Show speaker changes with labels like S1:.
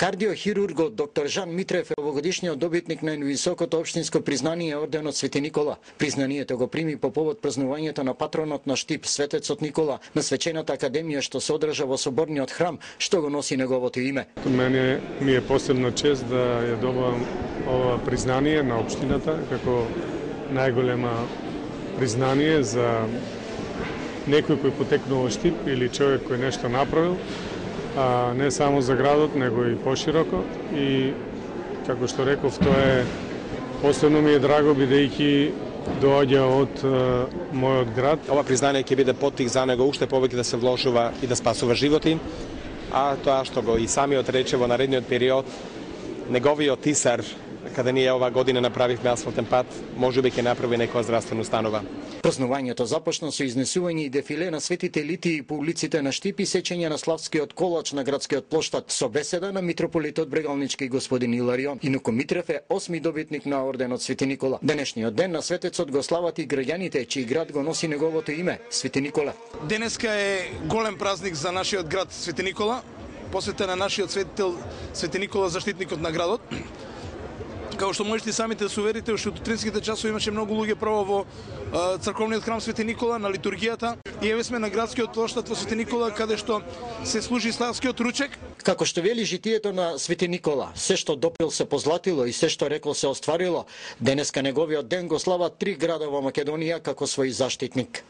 S1: Кардиохирургот доктор Жан Митрев е овогодишниот добитник на највисокото општинско признание орденот Свети Никола. Признанието го прими по повод празнувањето на патронот на Штип, светецот Никола, на свечената академија што се одржа во соборниот храм, што го носи неговото име.
S2: Мене ми е посебна чест да ја добивам ова признание на општината како најголема признание за некој кој потекнува Штип или човек кој нешто направил, а не само за градот, него и пошироко. И, како што реков, тоа е посебно ми е драго, бидејќи доаѓа од мојот град.
S3: Ова признание ќе биде поттик за него уште повеќе да се вложува и да спасува животи, а тоа што го и самиот рече во наредниот период, неговиот тисар, каде ние ова година направивме асфалтен пат, можеби ќе направи некоја здравствена установа.
S1: Празнувањето започна со изнесување и дефиле на светите литии по улиците на Штип и сечење на славскиот колач на градскиот плоштад со беседа на митрополитот Брегалнички господин Иларион. Инаку Митрев е 8ми добитник на орденот Свети Никола. Денешниот ден на светецот го слават и граѓаните, чиј град го носи неговото име, Свети Никола.
S4: Денеска е голем празник за нашиот град Свети Никола, посветен на нашиот светител Свети Никола, заштитникот на градот. Како што можете самите да се уверите, уште од утринските часови имаше многу луѓе право во црковниот храм Свети Никола на литургијата. И еве сме на градскиот плоштад во Свети Никола, каде што се служи славскиот ручек.
S1: Како што вели житието на Свети Никола, се што допил се позлатило и се што рекол се остварило. Денеска неговиот ден го слават 3 града во Македонија како свој заштитник.